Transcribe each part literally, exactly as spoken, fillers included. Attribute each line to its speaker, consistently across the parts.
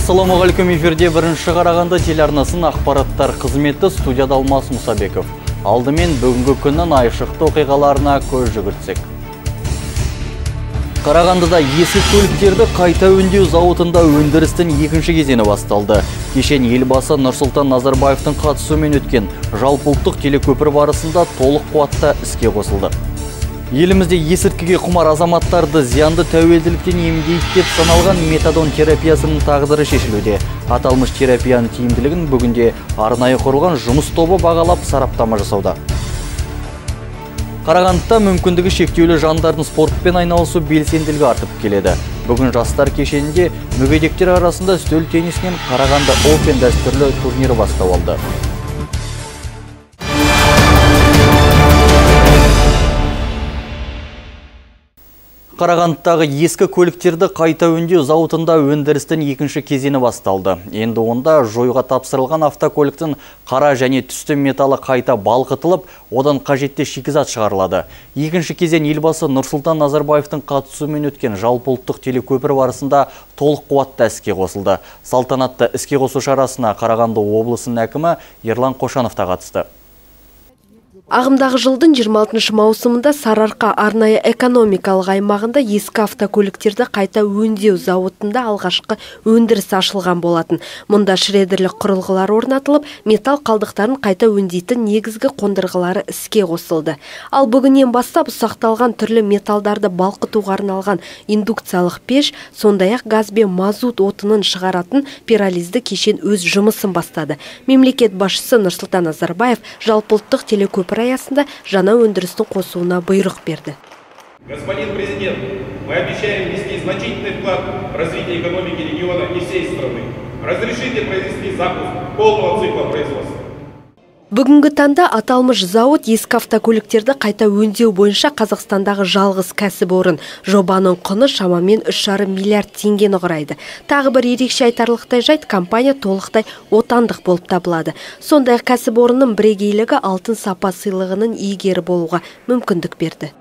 Speaker 1: Ассалаумағалейкум, эфирде бірінші Қарағанды телеарнасының ақпараттар қызметі, студияда Алмас Мұсабеков. Алдымен бүгінгі күннің айшықты оқиғаларына көз жүгіртсек. Қарағандыда ескі көліктерді қайта өңдеу зауытында өндірістің екінші кезеңі басталды. Кешен елбасы Нұрсұлтан Назарбаевтың қатысуымен өткен жалпыұлттық телекөпір барысында толық қуатта іске қосылды. Елімізде есірткіге құмар азаматтарды зиянды тәуелділіктен емдейді деп саналған метадон терапиясының тағдыры шешілуде. Аталмыш терапияның тиімділігін бүгінде арнайы құрылған жұмыс тобы бағалап сараптама жасауда. Қарағандыда мүмкіндігі шектеулі жандардың спортпен айналысу белсенділігі артып келеді. Бүгін жастар кешенінде мүгедектер арасында үстел теннисінен Қарағанды Open дәстүрлі турнирі бастау алды. Қарағандыдағы ескі көліктерді қайта өңдеу зауытында өндірістің екінші кезеңі басталды. Енді онда жойға тапсырылған автокөліктің қара және түсті металы қайта балқытылып, одан қажетті шикізат шығарылады. Екінші кезең елбасы Нұрсұлтан Назарбаевтың қатысуымен өткен жалпыұлттық телекөпір барысында толық қуатта іске қосылды. Салтанатты іске қосу шарасына Қарағанды облысының әкімі Ерлан Қошанов та қатысты.
Speaker 2: Ағымдағы жылдың жиырма алтыншы маусымында Сарыарқа арнайы экономикалық аймағында ескі автокөліктерді қайта өңдеу зауытында алғашқы өндіріс ашылған болатын. Мұнда шредерлік құрылғылар орнатылып, металл қалдықтарын қайта өңдейтін негізгі қондырғылары іске қосылды. Ал бүгіннен бастап ұсақталған түрлі металдарды балқытуға арналған индукциялық пеш, сондай-ақ газ бен мазут отынын шығаратын пиролизді кешен өз жұмысын бастады. Мемлекет басшысы Нұрсұлтан Назарбаев жалпыұлттық телекөпір аясында жаңа өндірістің қосуына бұйрық берді.
Speaker 3: Господин президент, мы обещаем внести значительный вклад в развитие экономики региона и всей страны. Разрешите произвести запуск полного цикла производства.
Speaker 2: Бүгінгі таңда аталмыш зауыт ескі автокөліктерді қайта өңдеу бойынша Қазақстандағы жалғыз кәсіпорын. Жобаның құны шамамен үш жарым миллиард теңгені құрайды. Тағы бір ерекше айтарлықтай жайт, компания толықтай отандық болып табылады. Сондай-ақ кәсіпорынның бірегейлігі алтын сапа сыйлығының иегері болуға мүмкіндік берді.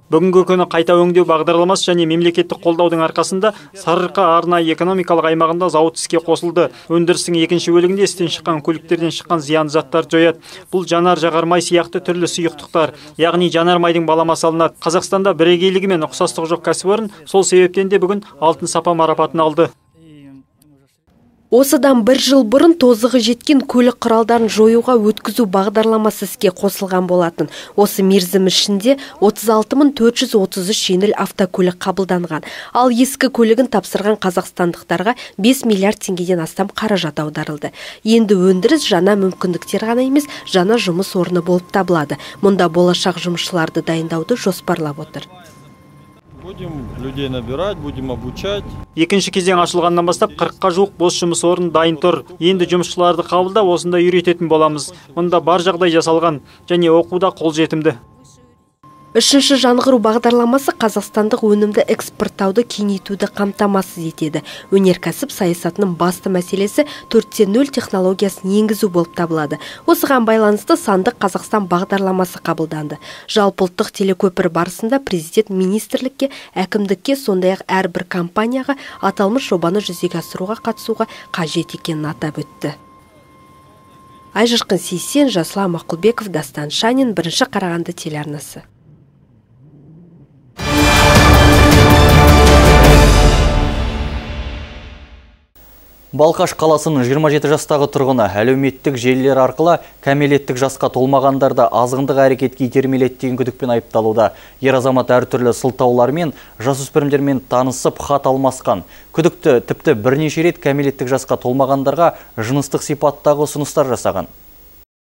Speaker 4: Бүгінгі күні қайта өңдеу бағдарламасы және мемлекеттік қолдаудың арқасында Сарыарқа арнайы экономикалық аймағында зауыт іске қосылды. Өндірістің екінші бөлігінде істен шыққан көліктерден шыққан зиянды заттар жояды. Бұл жанар жағармай сияқты түрлі сұйықтықтар, яғни жанармайдың баламасы алынады. Қазақстанда бірегейлігі мен ұқсастығы жоқ кәсіпорын сол себептен де бүгін алтын сапа марапатын алды.
Speaker 2: Осыдан бір жыл бұрын тозығы жеткен көлік құралдарын жоюға өткізу бағдарламасы іске қосылған болатын. Осы мерзім ішінде отыз алты мың төрт жүз отыз үш жеңіл автокөлік қабылданған. Ал ескі көлігін тапсырған қазақстандықтарға бес миллиард теңгеден астам қаражат аударылды. Енді өндіріс жаңа мүмкіндіктер ғана емес, жаңа жұмыс орны болып табылады. Мұнда болашақ жұмысшыларды дайындауды жоспарлап отыр.
Speaker 5: Будем людей набирать, будем обучать.
Speaker 4: Екінші кезең ашылғаннан бастап қырыққа жуық бос жұмыс орны дайын тұр. Енді жұмысшыларды қабылдап осында үйрететін боламыз. Мұнда бар жағдай жасалған және оқуда қолжетімді.
Speaker 2: Үшінші жаңғыру бағдарламасы қазақстандық өнімді экспорттауды кеңейтуді қамтамасыз етеді. Өнеркәсіп саясатының басты мәселесі төрт те нөл технологиясын енгізу болып табылады. Осыған байланысты сандық Қазақстан бағдарламасы қабылданды. Жалпыұлттық телекөпір барысында президент министрлікке, әкімдікке, сондай-ақ әрбір компанияға аталмыш жобаны жүзеге асыруға қатысуға қажет екенін атап өтті. Айжырқын Сейсен, Жасұлан Мақұлбеков, Дастан Шанин, бірінші Қарағанды телеарнасы.
Speaker 1: Балқаш қаласының жиырма жеті жастағы тұрғыны әлеуметтік желілер арқылы кәмелеттік жасқа толмағандарды азғындық әрекетке итермеледі деген күдікпен айыпталуда. Ер азамат әртүрлі сылтаулармен жасөспірімдермен танысып хат алмасқан. Күдікті тіпті бірнеше рет кәмелеттік жасқа толмағандарға жыныстық сипаттағы ұсыныстар жасаған.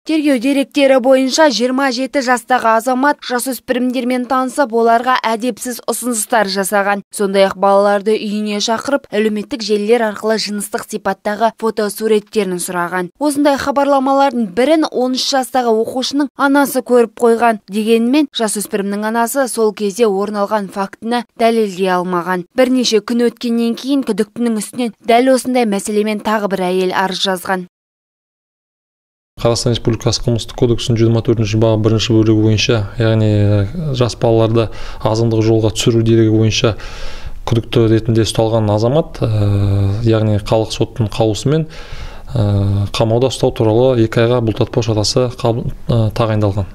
Speaker 6: Тергеу деректері бойынша жиырма жеті жастағы азамат жасөспірімдермен танысып, оларға әдепсіз ұсыныстар жасаған. Сондай-ақ балаларды үйіне шақырып, әлеуметтік желілер арқылы жыныстық сипаттағы фотосуреттерін сұраған. Осындай хабарламалардың бірін он үш жастағы оқушының анасы көріп қойған. Дегенмен, жасөспірімнің анасы сол кезде орын алған фактіні дәлелдей алмаған. Бірнеше күн өткеннен кейін күдіктінің үстінен дәл осындай мәселемен тағы бір әйел арыз жазған.
Speaker 7: Қазақстан Республикасы қылмыстық кодексінің жүз жиырма төртінші бабы бірінші бөлігі бойынша, яғни жас балаларды азғындық жолға түсіру дерегі бойынша күдікті ретінде ұсталған азамат, яғни қалалық соттың қаулысымен қамауда ұстау туралы екі айға бұлтартпау шарасы тағайындалған.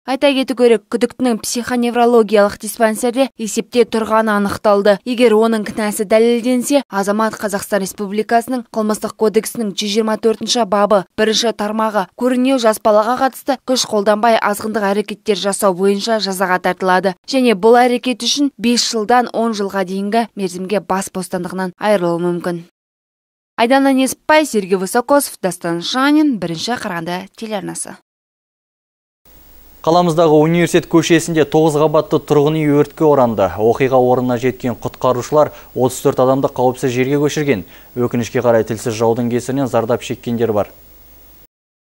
Speaker 6: Айта кету керек, күдіктінің психоневрологиялық диспансерде есепте тұрғаны анықталды. Егер оның кінәсі дәлелденсе, азамат Қазақстан Республикасының қылмыстық кодексінің жүз жиырма төртінші бабы бірінші тармағы көрінеу жас балаға қатысты күш қолданбай азғындық әрекеттер жасау бойынша жазаға тартылады. Және бұл әрекет үшін бес жылдан он жылға дейінгі мерзімге бас бостандығынан айырылуы мүмкін. Айдана Несіпбай, Сергей Высокосов, Дастан Шанин, бірінші Қарағанды телеарнасы.
Speaker 1: Қаламыздағы университет көшесінде тоғыз қабатты тұрғын үй өртке оранды. Оқиға орнына жеткен құтқарушылар отыз төрт адамды қауіпсіз жерге көшірген. Өкінішке қарай тілсіз жаудың кесірінен зардап шеккендер бар.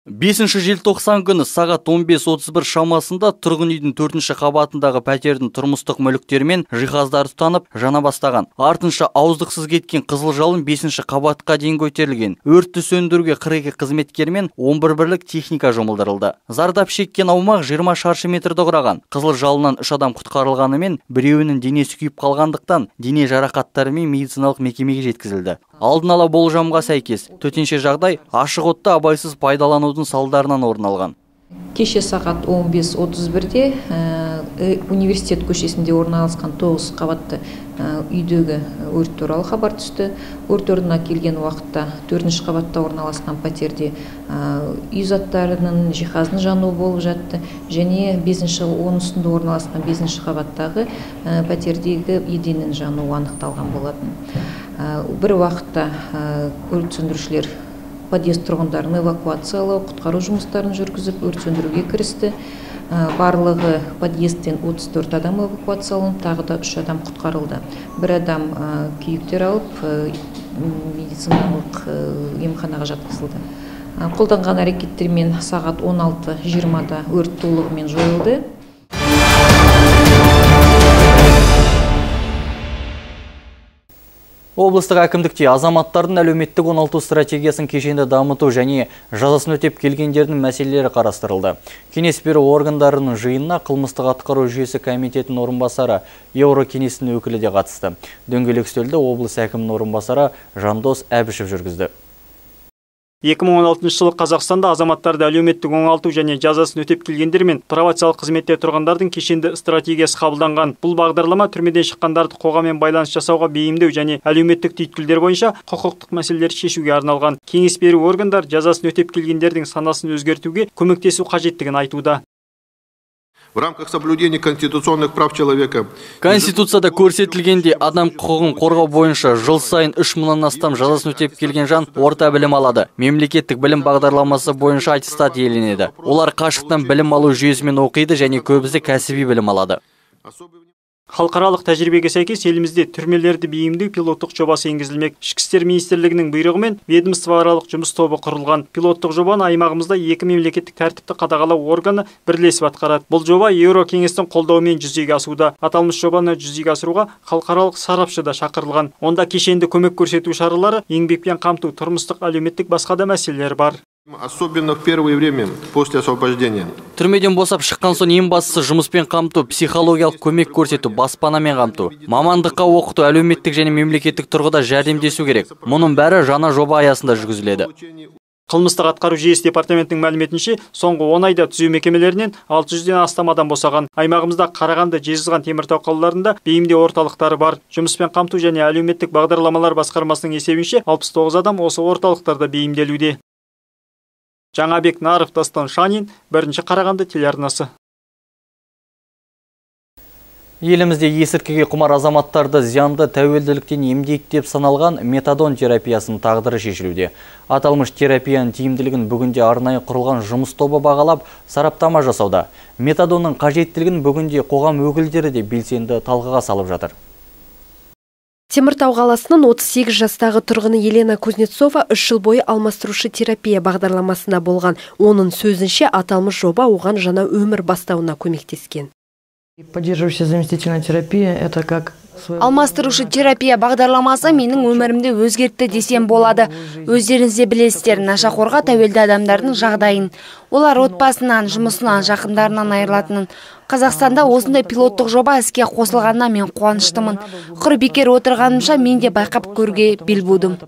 Speaker 1: бесінші желтоқсан күні сағат он бес отыз бір шамасында тұрғын үйдің төртінші қабатындағы пәтердің тұрмыстық мүліктері мен жиһаздары тұтанып жана бастаған. Артынша ауыздықсыз кеткен қызыл жалын бесінші қабатқа дейін көтерілген. Өртті сөндіруге қырық екі қызметкер мен он бір бірлік техника жұмылдырылды. Зардап шеккен аумақ жиырма шаршы метрді құраған. Қызыл жалыннан үш адам құтқарылғанымен, біреуінің денесі күйіп қалғандықтан дене жарақаттарымен медициналық мекемеге жеткізілді. Алдын ала болжамға сәйкес, төтенше жағдай ашық отты абайсыз пайдаланудың салдарынан орын алған.
Speaker 8: Кеше сағат он бес отыз бірде университет көшесінде орналасқан тоғыз қабатты үйдегі өрт туралы хабар түсті. Өрт орнына келген уақытта төртінші қабатта орналасқан пәтерде үй заттарының жиһаздың жануы болып жатты. Және бесінші он үстінде орналасқан бесінші қабаттағы пәтердегі еденнің жануы анықталған болатын. Бір уақытта өрт сөндірушілер подъезд тұрғындарын эвакуациялау, құтқару жұмыстарын жүргізіп, өрт сөндіруге кірісті. Барлығы подъезден отыз төрт адам эвакуацияланып, тағы да үш адам құтқарылды. Бір адам күйіктер алып, медициналық емханаға жатқызылды. Қолданған әрекеттермен сағат он алты жиырмада өрт толығымен жойылды.
Speaker 1: Облыстық әкімдікте азаматтардың әлеуметтік оңалту стратегиясын кешенді дамыту және жазасын өтеп келгендердің мәселелері қарастырылды. Кеңес беру органдарының жиынына қылмыстық атқару жүйесі комитетінің орынбасары Еурокеңестің өкілі де қатысты. Дөңгелек үстелді облыс әкімінің орынбасары Жандос Әбішев жүргізді.
Speaker 4: екі мың он алтыншы жылы Қазақстанда азаматтарды әлеуметтік оңалту және жазасын өтеп келгендер мен пробациялық қызметте тұрғандардың кешенді стратегиясы қабылданған. Бұл бағдарлама түрмеден шыққандарды қоғаммен байланыс жасауға бейімдеу және әлеуметтік түйткілдер бойынша құқықтық мәселелерді шешуге арналған. Кеңес беру органдар жазасын өтеп келгендердің санасын өзгертуге көмектесу қажеттігін айтуда.
Speaker 9: В рамках соблюдения конституционных прав человека.
Speaker 1: Конституцияда көрсетілгенде адам құқығын қорғау бойынша жыл сайын үш мыңнан астам жазасын өтеп келген жан орта білім алады. Мемлекеттік білім бағдарламасы бойынша аттестат иеленеді. Олар қашықтан білім алу жүйесімен оқиды және көбісі кәсіби білім алады.
Speaker 4: Халықаралық тәжірибеге сәйкес елімізде түрмелерді бейімдеу пилоттық жобасы енгізілмек. Ішкі істер министрлігінің бұйрығымен ведомствоаралық жұмыс тобы құрылған. Пилоттық жобаны аймағымызда екі мемлекеттік тәртіпті қадағалау органы бірлесіп атқарады. Бұл жоба Еурокеңестің қолдауымен жүзеге асуда. Аталмыш жобаны жүзеге асыруға халықаралық сарапшы да шақырылған. Онда кешенді көмек көрсету шаралары, еңбекпен қамту, тұрмыстық әлеуметтік басқа да мәселелер бар.
Speaker 9: Особенно в первое время после освобождения.
Speaker 1: Түрмеден босап шыққан соң ең бастысы жұмыспен қамту, психологиялық көмек көрсету, баспанамен қамту, мамандыққа оқыту, әлеуметтік және мемлекеттік тұрғыда жәрдемдесу керек. Мұның бәрі жаңа жоба аясында жүргізіледі.
Speaker 4: Қылмыстық атқару жүйесі департаментінің мәліметінше, соңғы он айда түзеу мекемелерінен алты жүзден астам адам босаған. Аймағымызда Қарағанды, Жезқазған, Теміртау қалаларында бейімдеу орталықтары бар. Жұмыспен қамту және әлеуметтік бағдарламалар басқармасының есебінше алпыс тоғыз адам осы орталықтарда бейімделуде. Жаңабек Наров, Дастан Шанин, бірінші Қарағанды телеарнасы.
Speaker 1: Елімізде есірткіге құмар азаматтарды зиянды тәуелділіктен емдейді деп саналған метадон терапиясының тағдыры шешілуде. Аталмыш терапияның тиімділігін бүгінде арнайы құрылған жұмыс тобы бағалап, сараптама жасауда. Метадонның қажеттілігін бүгінде қоғам өкілдері де белсенді талқыға салып жатыр.
Speaker 2: Теміртау қаласының отыз сегіз жастағы тұрғыны Елена Кузнецова үш жыл бойы алмастырушы терапия бағдарламасында болған. Оның сөзінше аталмыш жоба оған жаңа өмір бастауына көмектескен.
Speaker 10: Поддерживающая заместительная терапия – это как
Speaker 6: Алмастырушы терапия бағдарламасы менің өмірімді өзгертті десем болады. Өздеріңіз де білесіздер, нашақорға тәуелді адамдардың жағдайын. Олар отбасынан, жұмысынан, жақындарынан айырылатынын. Қазақстанда осындай пилоттық жоба іске қосылғанына мен қуаныштымын. Құр бекер отырғанымша мен де байқап көруге бел будым.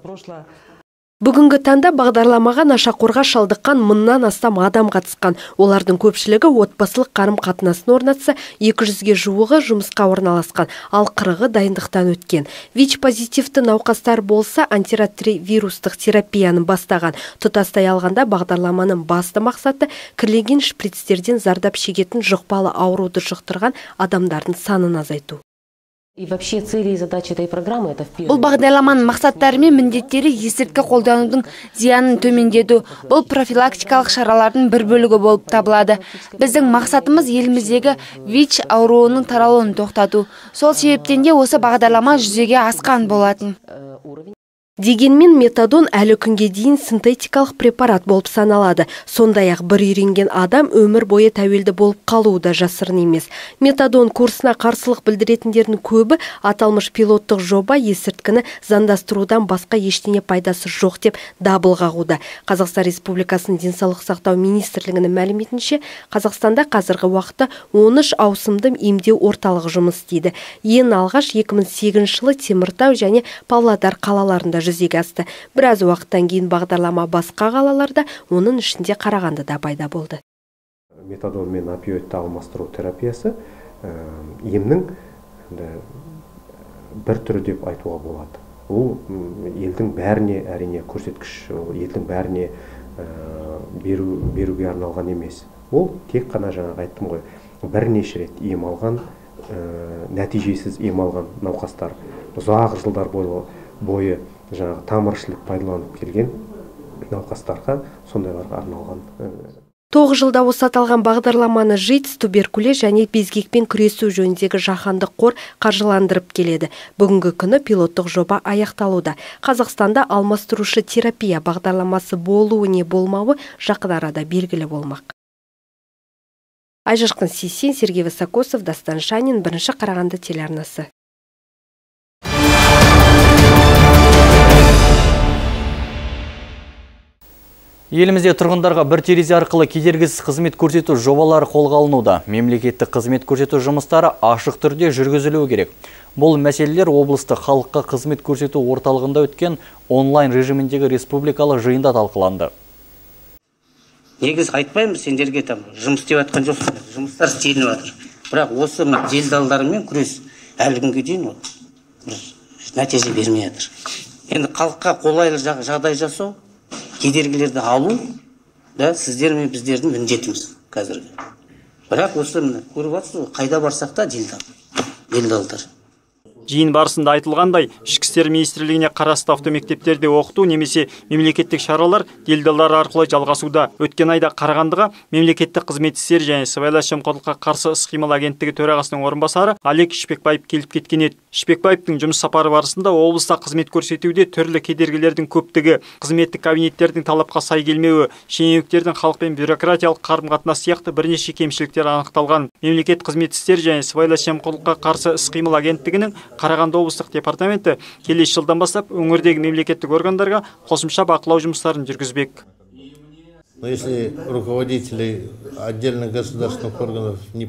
Speaker 2: Бүгінгі таңда бағдарламаға нашақорға шалдыққан мыңнан астам адам қатысқан. Олардың көпшілігі отбасылық қарым қатынасын орнатса, екі жүзге жуығы жұмысқа орналасқан, ал қырығы дайындықтан өткен. ВИЧ-позитивті науқастар болса, антиретровирустық терапияны бастаған. Тұтастай алғанда бағдарламаның басты мақсаты кірлеген шприцтерден зардап шегетін жұқпалы ауруды жұқтырған адамдардың санын азайту.
Speaker 6: Бұл бағдарламаның мақсаттары мен міндеттері есірткі қолданудың зиянын төмендету. Бұл профилактикалық шаралардың бір бөлігі болып табылады. Біздің мақсатымыз еліміздегі ВИЧ ауруының таралуын тоқтату. Сол себептен де осы бағдарлама жүзеге асқан болатын.
Speaker 2: Дегенмен метадон әлі күнге дейін синтетикалық препарат болып саналады. Сондай-ақ бір үйренген адам өмір бойы тәуелді болып қалуы да жасырын емес. Метадон курсына қарсылық білдіретіндердің көбі аталмыш пилоттық жоба есірткіні заңдастырудан басқа ештеңе пайдасы жоқ деп дабыл қағуда. Қазақстан Республикасының денсаулық сақтау министрлігінің мәліметінше, Қазақстанда қазіргі уақытта он үш ауысымды емдеу орталығы жұмыс істейді. Ең алғаш екі мың сегізінші жылы Теміртау және Павлодар қалаларында жүзеге асты. Біраз уақыттан кейін бағдарлама басқа қалаларда, оның ішінде Қарағандыда пайда болды.
Speaker 11: Метадон мен опиоидті алмастыру терапиясы емнің бір түрі деп айтуға болады. Ол елдің бәріне әрине көрсеткіш, елдің бәріне беру, беруге арналған емес. Ол тек қана жаңағы айттым ғой, бірнеше рет ем алған, нәтижесіз ем алған науқастар, ұзақ жылдар бойы жаңағы тамыршылық пайдаланып келген науқастарға сондайларға арналған.
Speaker 2: Тоғыз жылда осы аталған бағдарламаны ЖИТС, туберкулез және безгекпен күресу жөніндегі жаһандық қор қаржыландырып келеді. Бүгінгі күні пилоттық жоба аяқталуда. Қазақстанда алмастырушы терапия бағдарламасы болуы не болмауы жақын арада белгілі болмақ. Айжарқын Сейсен, Сергей Высокосов, Дастан Шанин, бірінші Қарағанды телеарнасы.
Speaker 1: Елімізде тұрғындарға бір терезе арқылы кедергісіз қызмет көрсету жобалары қолға алынуда. Мемлекеттік қызмет көрсету жұмыстары ашық түрде жүргізілуі керек. Бұл мәселелер облыстық халыққа қызмет көрсету орталығында өткен онлайн режиміндегі республикалық жиында талқыланды.
Speaker 12: Негіз айтпаймыз, сендерге там жұмыс істеп жатқан жоқсыңдар. Жұмыстар істелініп жатыр. Бірақ осы делдалдармен күрес әлі күнге дейін нәтиже бермей жатыр. Енді халыққа қолайлы жағдай жасау, кедергілерді алу, да, сіздер мен біздердің міндетіміз қазіргі. Бірақ осы көріп жатсыз, қайда барсақ та делдал, делдалдар.
Speaker 4: Жиын барысында айтылғандай, ішкі істер министрлігіне қарасты автомектептерде оқыту немесе мемлекеттік шаралар делдалдар арқылы жалғасуда. Өткен айда Қарағандыға мемлекеттік қызмет істері және сыбайлас жемқорлыққа қарсы іс-қимыл агенттігі төрағасының орынбасары Олег Шпекбаев келіп кеткен еді. Шпекбаевтың жұмыс сапары барысында облыста қызмет көрсетуде түрлі кедергілердің көптігі, қызметтік кабинеттердің талапқа сай келмеуі, шенеуніктердің халықпен бюрократиялық қарым-қатынас сияқты бірнеше кемшіліктер анықталған. Мемлекет қызмет істері және сыбайлас жемқорлыққа қарсы іс-қимыл агенттігінің Қарағанды облыстық департаменті келесі жылдан бастап өңірдегі мемлекеттік органдарға қосымша бақылау жұмыстарын жүргізбек.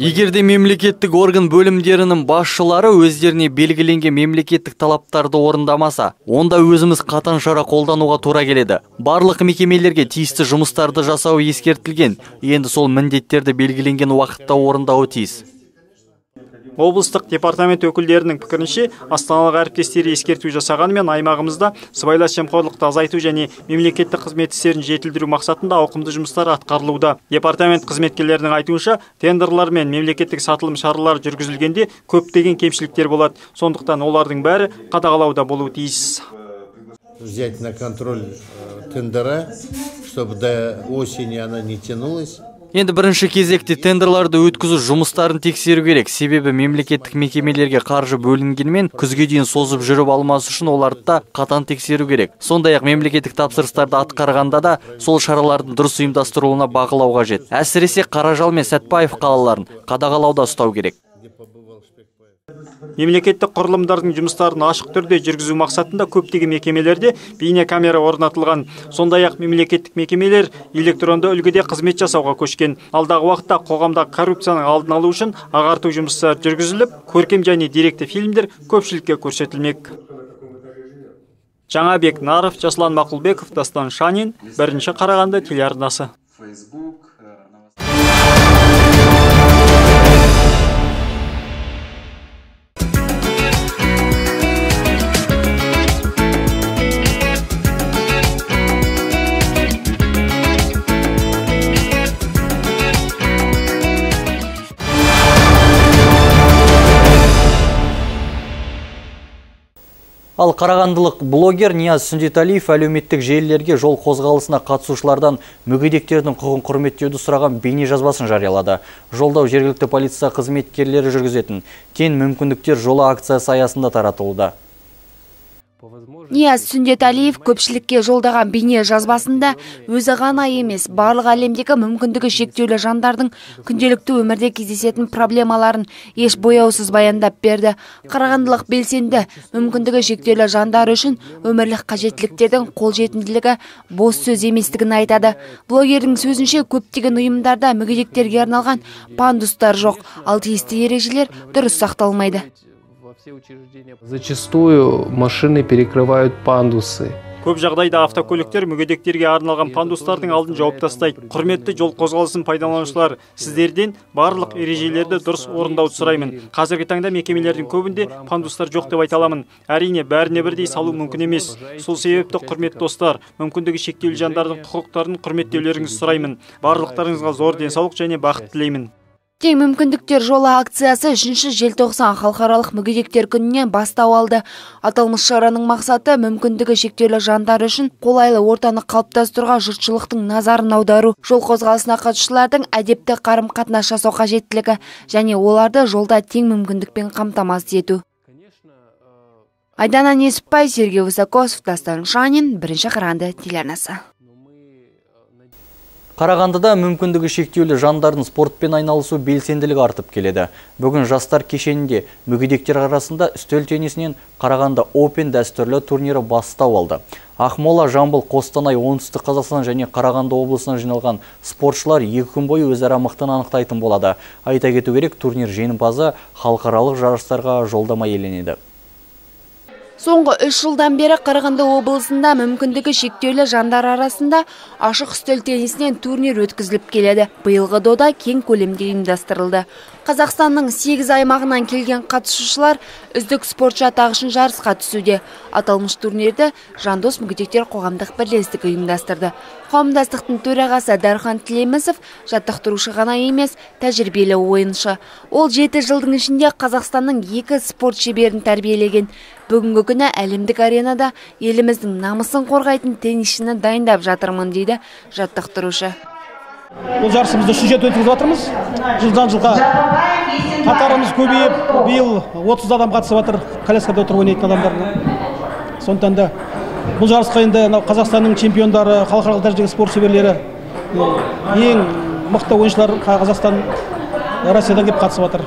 Speaker 1: Егерде мемлекеттік орган бөлімдерінің басшылары өздеріне белгіленген мемлекеттік талаптарды орындамаса, онда өзіміз қатаң шара қолдануға тура келеді. Барлық мекемелерге тиісті жұмыстарды жасау ескертілген. Енді сол міндеттерді белгіленген уақытта орындауы тиіс.
Speaker 4: Облыстық департамент өкілдерінің пікірінше, астаналық әріптестері ескерту жасағанымен аймағымызда сыбайлас жемқорлықты азайту және мемлекеттік қызмет істерін жетілдіру мақсатында ауқымды жұмыстар атқарылуда. Департамент қызметкерлерінің айтуынша, тендерлар мен мемлекеттік сатылым шаралары жүргізілгенде көптеген кемшіліктер болады. Сондықтан олардың бәрі қадағалауда болуы тиіс.
Speaker 13: Взять на контроль тендера, чтобы до осени она не тянулась.
Speaker 1: Енді бірінші кезекте тендерларды өткізу жұмыстарын тексеру керек. Себебі мемлекеттік мекемелерге қаржы бөлінгенмен күзге дейін созып жүріп алмас үшін оларды да қатаң тексеру керек. Сондай-ақ мемлекеттік тапсырыстарды атқарғанда да сол шаралардың дұрыс ұйымдастырылуына бақылау қажет. Әсіресе Қаражал мен Сәтпаев қалаларын қадағалауда ұстау керек.
Speaker 4: Мемлекеттік құрылымдардың жұмыстарын ашық түрде жүргізу мақсатында көптеген мекемелерде бейне камера орнатылған. Сондай-ақ мемлекеттік мекемелер электронды үлгіде қызмет жасауға көшкен. Алдағы уақытта қоғамдағы коррупцияның алдын алу үшін ағарту жұмыстары жүргізіліп, көркем және деректі фильмдер көпшілікке көрсетілмек. Жаңабек Наров, Жаслан Мақұлбеков, Дастан Шанин, бірінші Қарағанды телеарнасы.
Speaker 1: Ал қарағандылық блогер Нияз Сүндеталиев әлеуметтік желілерге жол қозғалысына қатысушылардан мүгедектердің құқығын құрметтеуді сұраған бейне жазбасын жариялады. Жолдау жергілікті полиция қызметкерлері жүргізетін тең мүмкіндіктер жолы акциясы аясында таратылуда.
Speaker 6: Нияз Сүндеталиев көпшілікке жолдаған бейне жазбасында өзі ғана емес, барлық әлемдегі мүмкіндігі шектеулі жандардың күнделікті өмірде кездесетін проблемаларын еш бояусыз баяндап берді. Қарағандылық белсенді мүмкіндігі шектеулі жандар үшін өмірлік қажеттіліктердің қолжетімділігі бос сөз еместігін айтады. Блогердің сөзінше көптеген ұйымдарда мүгедектерге арналған пандустар жоқ, ал тиісті ережелер дұрыс сақталмайды.
Speaker 14: Зачастую машины перекрывают пандусы.
Speaker 4: Көп жағдайда автокөліктер мүгедектерге арналған пандустардың алдын жауып тастайды. Құрметті жол қозғалысын пайдаланушылар, сіздерден барлық ережелерді дұрыс орындауды сұраймын. Қазіргі таңда мекемелердің көбінде пандустар жоқ деп айта аламын. Әрине, бәріне бірдей салу мүмкін емес. Сол себепті, құрметті достар, мүмкіндігі шектеулі жандардың құқықтарын құрметтеулеріңізді сұраймын. Барлықтарыңызға зор денсаулық және бақыт тілеймін.
Speaker 6: Тең мүмкіндіктер жолы акциясы үшінші желтоқсан халықаралық мүгедектер күніне бастау алды. Аталмыш шараның мақсаты мүмкіндігі шектеулі жандар үшін қолайлы ортаны қалыптастыруға жұртшылықтың назарын аудару, жол қозғалысына қатысушылардың әдепті қарым-қатынас жасау қажеттілігі және оларды жолда тең мүмкіндікпен қамтамасыз ету. Айдана Несіпбай, Сергей Высокосов, Дастан Шанин, бірінші Қарағанды телеарнасы.
Speaker 1: Қарағандыда мүмкіндігі шектеулі жандардың спортпен айналысу белсенділігі артып келеді. Бүгін жастар кешенінде мүгедектер арасында үстел теннисінен Қарағанды Open дәстүрлі турнирі бастау алды. Ақмола, Жамбыл, Қостанай, Оңтүстік Қазақстан және Қарағанды облысынан жиналған спортшылар екі күн бойы өзара мықтын анықтайтын болады. Айта кету керек, турнир жеңімпазы халықаралық жарыстарға жолдама иеленеді.
Speaker 6: Соңғы үш жылдан бері Қарағанды облысында мүмкіндігі шектеулі жандар арасында ашық үстел теннисінен турнир өткізіліп келеді. Биылғы дода кең көлемде ұйымдастырылды. Қазақстанның сегіз аймағынан келген қатысушылар үздік спортшы атағы үшін жарысқа түсуде. Аталмыш турнирді Жандос мүгедектер қоғамдық бірлестігі ұйымдастырды. Қауымдастықтың төрағасы Дархан Тілемісов жаттықтырушы ғана емес, тәжірибелі ойыншы. Ол жеті жылдың ішінде Қазақстанның екі спорт шеберін тәрбиелеген. Бүгінгі күні әлемдік аренада еліміздің намысын қорғайтын теннисшіні дайындап жатырмын дейді жаттықтырушы.
Speaker 15: Бұл жарысымызды үшінші рет өткізіп жатырмыз. Жылдан жылға қатарымыз көбейіп, биыл отыз адам қатысып жатыр, коляскада отырып ойнайтын адамдар. Сондықтан да бұл жарысқа енді Қазақстанның чемпиондары, халықаралық дәрежедегі спорт шеберлері, ең мықты ойыншылар Қазақстан, Россиядан келіп қатысып жатыр.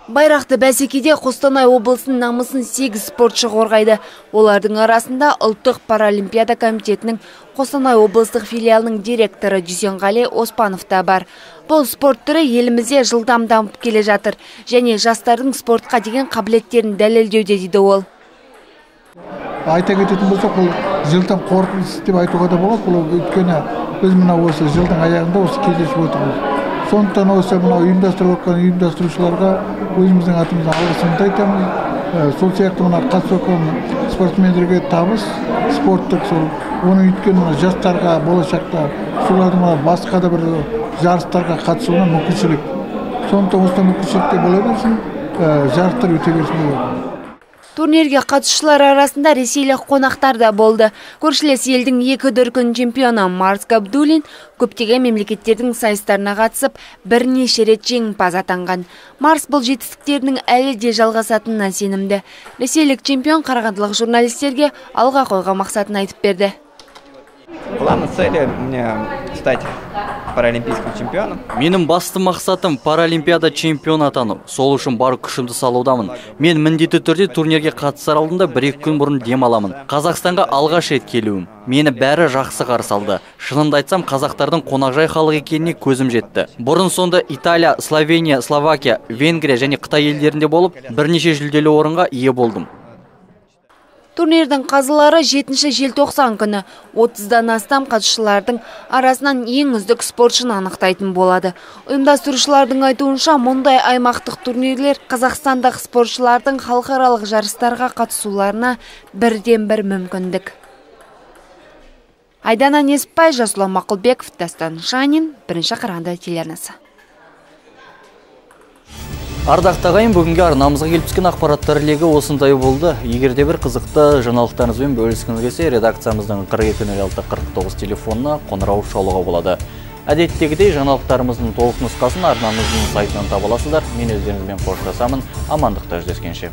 Speaker 6: Байрақты бәсекеде Қостанай облысының намысын сегіз спортшы қорғайды. Олардың арасында ұлттық паралимпиада комитетінің Қостанай облыстық филиалының директоры Дүйсенғали Оспанов та бар. Бұл спорт түрі елімізде жылдам дамып келе жатыр және жастардың спортқа деген қабілеттерін дәлелдеуде дейді ол.
Speaker 16: Айта кететін болсақ, бұл жылдың қорытындысы деп айтуға да болады. Бұл өйткені біз мына осы жылдың аяғында осы кездесіп отырмыз. Сондықтан осы мына ұйымдастырып отқан ұйымдастырушыларға өзіміздің атымыздан алғысымызды айтамыз. Сол сияқты мына қатысып отқан спортсмендерге табыс, спорттық сол оны өйткені мына жастарға болашақта солардың мына басқа да бір жарыстарға қатысуына мүмкіншілік. Сондықтан осы мүмкіншілікте бола берсін, жарыстар өте берсін деп.
Speaker 6: Турнирге қатысушылар арасында ресейлік қонақтар да болды. Көршілес елдің екі дүркін чемпионы Марс Габдуллин көптеген мемлекеттердің сайыстарына қатысып, бірнеше рет жеңімпаз атанған. Марс бұл жетістіктерінің әлі де жалғасатынына сенімді. Ресейлік чемпион қарағандылық журналистерге алға қойған мақсатын айтып берді.
Speaker 17: Главная цель у меня стать паралимпийским чемпионом.
Speaker 1: Менің басты мақсатым паралимпиада чемпион атану. Сол үшін бар күшімді салудамын. Мен міндетті түрде турнирге қатысар алдында бір-екі күн бұрын дем аламын. Қазақстанға алғаш рет келуім. Мені бәрі жақсы қарсы алды. Шынымды айтсам, қазақтардың қонақжай халық екеніне көзім жетті. Бұрын сонда Италия, Словения, Словакия, Венгрия және Қытай елдерінде болып, бірнеше жүлделі орынға ие болдым.
Speaker 6: Турнирдің қазылары жетінші желтоқсан күні отыздан астам қатысушылардың арасынан ең үздік спортшыны анықтайтын болады. Ұйымдастырушылардың айтуынша, мұндай аймақтық турнирлер қазақстандық спортшылардың халықаралық жарыстарға қатысуларына бірден бір мүмкіндік. Айдана Неспай, Жасұлан Мақұлбеков, Дастан Шанин, бірінші Қарағанды телеарнасы.
Speaker 1: Ардақты ағайын, бүгінгі арнамызға келіп түскен ақпараттар легі осындай болды. Егер де бір қызықты жаңалықтарыңызбен бөліскіңіз келсе, редакциямыздың қырық екі нөл алты қырық тоғыз телефонына қоңырау шалуға болады. Әдеттегідей жаңалықтарымыздың толық нұсқасын арнамыздың сайтынан таба аласыздар. Мен өздеріңізбен қоштасамын. Амандықта жүздескенше.